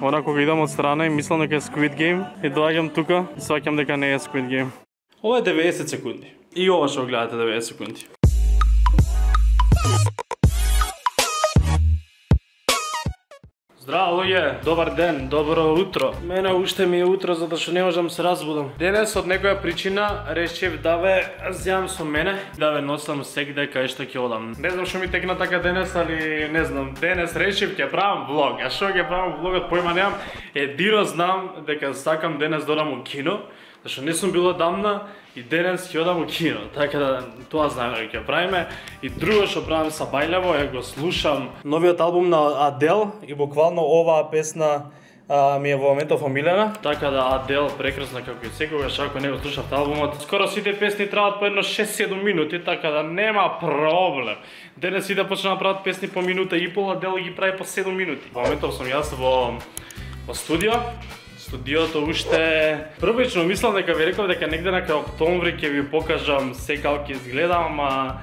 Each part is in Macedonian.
Она кога идам од страна и мислам дека е Squid Game и доаѓам тука и сваќам дека не е Squid Game. Ова е 90 секунди. И ова што гледате 90 секунди. Здраво луѓе, добар ден, добро утро. Мене уште ми е утро затоа што не можам се разбудам. Денес од некоја причина решив да ве земам со мене, да ве носам сегде кај што ќе одам. Не знам што ми текна така денес, али не знам, денес решив ќе правам влог. А што ќе правам влогот, појма немам. Едино знам дека сакам денес да одам у кино, зашто не сум бил одамна и денес ќе одам у кино. Така да тоа знаеме дека ќе правиме. И друго што правам сабајлево е го слушам новиот албум на Адел и буквално оваа песна ми е во моментов омилена. Така да Адел прекрасна како и секогаш, ако не го слушавте албумот. Скоро сите песни траат по едно 6-7 минути, така да нема проблем. Денес и да почнат да прават песни по минута и пол, Адел ги прави по 7 минути. Во моментов сум јас во студио. Студиото уште првично мислам дека ви реков дека негде на крај октомври ќе ви покажам се како ќе изгледам, ама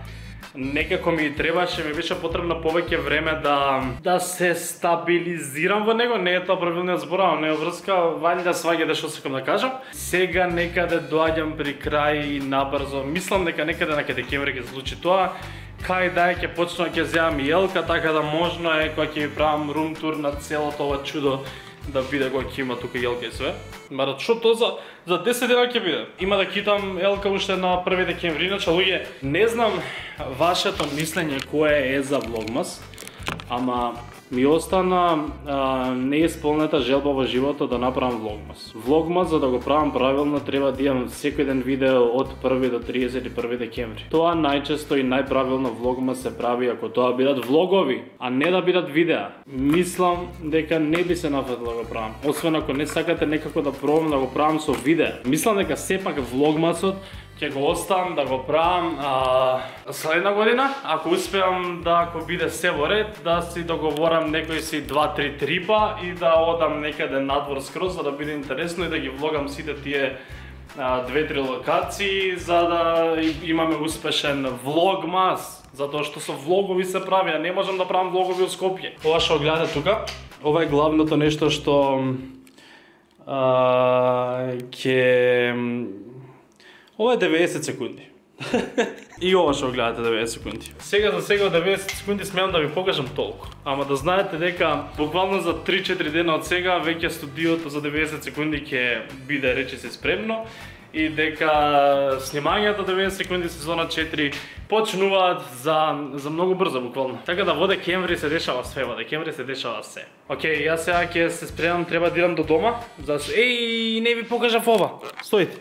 некако ми требаше, ми беше потребно повеќе време да се стабилизирам во него. Не е тоа правилниот збор, ама не е врска, ваljda сваѓате што сакам да кажам. Сега некаде доаѓам при крај и набрзо. Мислам дека некаде на декември ќе се случи тоа. Кај да ќе почнам ќе земам и Елка, така да можно е кога ќе ви правам рум тур на целото ова чудо да биде кога ќе има тука Елка и све. Мара што тоа за 10 дена ќе биде. Има да китам Елка уште на 1 декември. Иначе луѓе, не знам вашето мислење кое е за Влогмас, ама ми остана неисполнета желба во животот да направам Влогмас. Влогмас, за да го правам правилно, треба да имам секој ден видео од 1 до 31 декември. Тоа најчесто и најправилно Влогмас се прави ако тоа бидат влогови, а не да бидат видеа. Мислам дека не би се нафатило да го правам, освен ако не сакате некако да пробам да го правам со видеа. Мислам дека сепак Влогмасот ќе го оставам да го правам следна година, ако успеам да ако биде се во ред, да си договорам некои си 2-3 трипа и да одам некаде надвор скроз за да биде интересно и да ги влогам сите тие 2-3 локации за да имаме успешен Влогмас, затоа што со влогови се прави, а не можам да правам влогови од Скопје. Ова што гледате тука, ова е главното нешто што ова е 90 секунди. И ова што гледате 90 секунди. Сега за сега 90 секунди смеам да ви покажам толку. Ама да знаете дека буквално за 3-4 дена од сега веќе студиото за 90 секунди ќе биде речиси спремно и дека снимањето 90 секунди сезона 4 почнуваат за многу брзо буквално. Така да во декември се дешава све, во декември се дешава се. Океј, јас сега ќе се спремам, треба да идам до дома. Еј, не ви покажав ова. Стоите.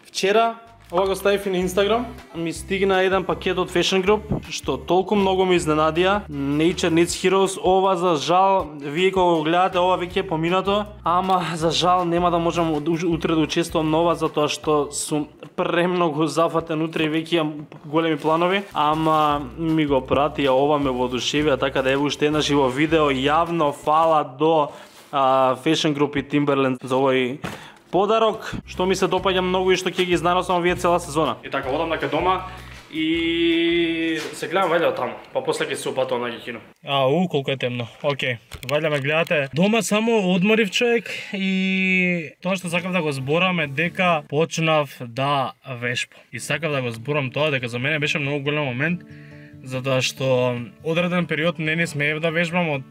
Вчера, ова го ставив и на Инстаграм, ми стигна еден пакет од Fashion Group, што толку многу ме изненадија. Nature Needs Heroes, ова за жал, вие кога го гледате, ова веќе е поминато, ама за жал нема да можам утре да учествувам нова, затоа што сум премногу зафатен утре и веќе имам големи планови, ама ми го пратија, ова ме воодушевија, така да ево уште една живо видео, јавно фала до Fashion Group и Timberland за овој подарок, што ми се допаѓа многу и што ќе ги изненадам овие цела сезона. И така, одам нака дома и се гледам ваljda таму, па после ќе се упатувам на кино. Колку е темно. Океј, ваljda ме гледате. Дома само одморив човек и тоа што сакав да го зборам е дека почнав да вешбам. И сакав да го зборам тоа дека за мене беше многу голем момент, затоа што одреден период не смеев да вешбам од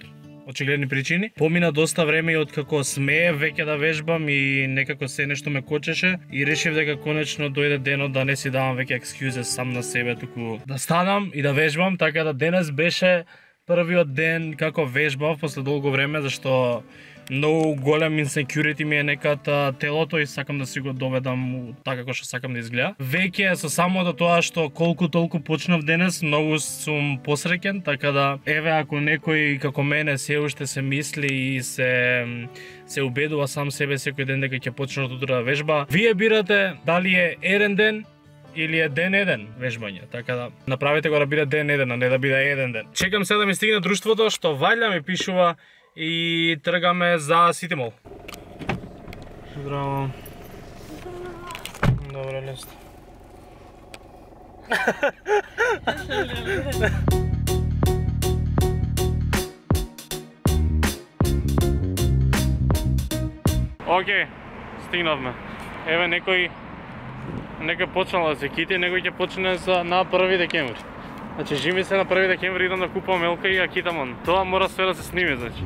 очигледни причини. Помина доста време и откако смеев веќе да вежбам и некако се нешто ме кочеше и решив дека конечно дојде денот да не си давам веќе екскјузе сам на себе, туку да станам и да вежбам, така да денес беше првиот ден како вежбав после долго време, зашто многу голем insecurity ми е некад телото и сакам да си го доведам така како што сакам да изгледа. Веќе со самото тоа што колку толку почнав денес, многу сум посреќен, така да еве ако некој како мене се уште се мисли и се убедува сам себе секој ден дека ќе почне од утре да вежба, вие бирате дали е еден ден или е ден еден вежбање, така да направите го да биде ден еден, а не да биде еден ден. Чекам се да ми стигне друштвото што ваljda ми пишува и тргаме за Сити Мол. Здраво. Добре, лесно. Океј, стигнавме. Еве некој почнал да се кити, некој ќе почне на 1 декември. Значи, жими се на 1 декември идам да купувам елка и ја китам он. Тоа мора све да се сними, значи.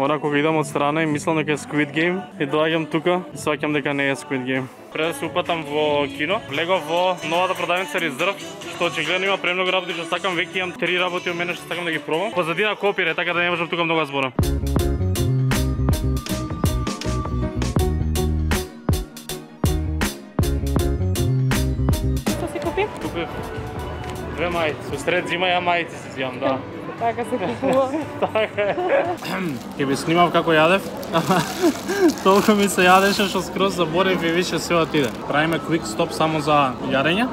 Ора кога идам од страна и мислам дека е Squid Game и доаѓам тука и сваќам дека не е Squid Game. Пред да се упатам во кино, влегов во новата продавница Reserve, што очигледно има премногу работи што сакам, веќе имам 3 работи од мене што сакам да ги пробам. Позадина копире, така да не можам тука многу да зборам. Што си купи? Купив 2 мајци, со сред зима ја мајци си зијам, да. Така се купува. Така е. Ке би снимав како јадев, толку ми се јадеше што скроз заборев и више се отиде. Правиме quick stop само за јарење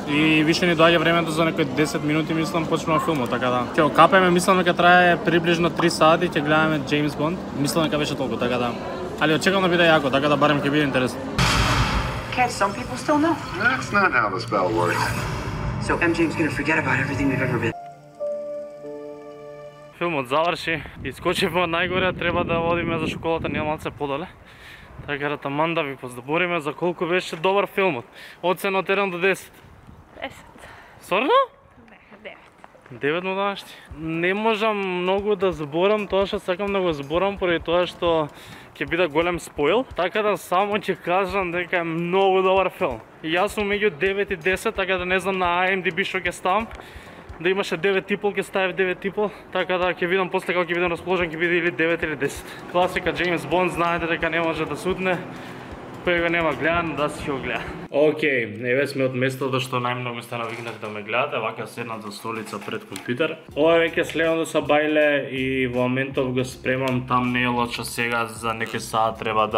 и више ни доаѓа времето за некои 10 минути, мислам, почнува филмот, така да. Ќе го капеме, мислам дека трае приближно 3 сати, ќе гледаме James Bond. Мислам дека беше толку, така да. Али очекувам да биде јако, така да барем ќе биде интересно. Can't some people still know? That's not how the spell works. So MJ's gonna forget about everything we've ever been. Филмот заврши, искочивме од најгоре, треба да одиме за школата, ние малце подале. Така да таман да ви поздобориме за колку беше добар филмот. Оцена од 1 до 10. 10. Сорно? Не, 9 на данашти. Не можам многу да зборам тоа што сакам да го зборам поради тоа што ќе биде голем спойл, така да само ќе кажам дека е многу добар филм. И јас сум меѓу 9 и 10, така да не знам на IMDb што ќе ставам. Да имаше 9,5, ќе ставив 9,5, така да ќе видам после како ќе бидам расположен, ќе биде или 9 или 10. Класика Джеймс Бонд, знаете дека не може да сутне. Кој го нема гледан, да си го гледа. Океј, еве сме од местото што најмногу сте навикнати да ме гледате, вака седнат за столица пред компјутер. Ова е веќе следното са бајле и во моментов го спремам тамнејлот што сега за некој саат треба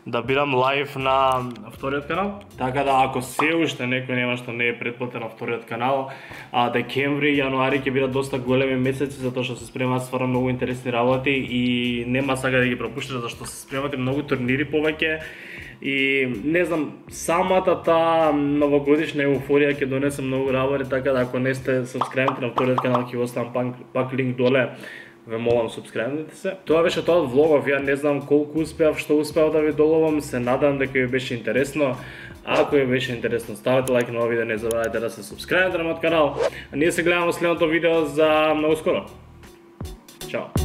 да бидам лайв на вториот канал. Така да ако се уште некој нема што не е претплатен на вториот канал, декември и јануари ќе бидат доста големи месеци затоа што се спремаат стварно многу интересни работи и нема сака да ги пропуштите зашто се спремат и многу турнири повеќе. И не знам, самата таа новогодишна еуфорија ќе донесе многу работи, така да ако не сте сабскрајбнати на вториот канал ќе оставам пак линк доле. Ве молам, субскрајбнете се. Тоа беше тоа од влогов, ја не знам колку успеав, што успеав да ви доловам, се надам дека ви беше интересно. Ако ви беше интересно, ставете лайк на овој видео, не забравяйте да се субскрајбнете на мојот канал. А ние се гледаме во следното видео за многу скоро. Чао!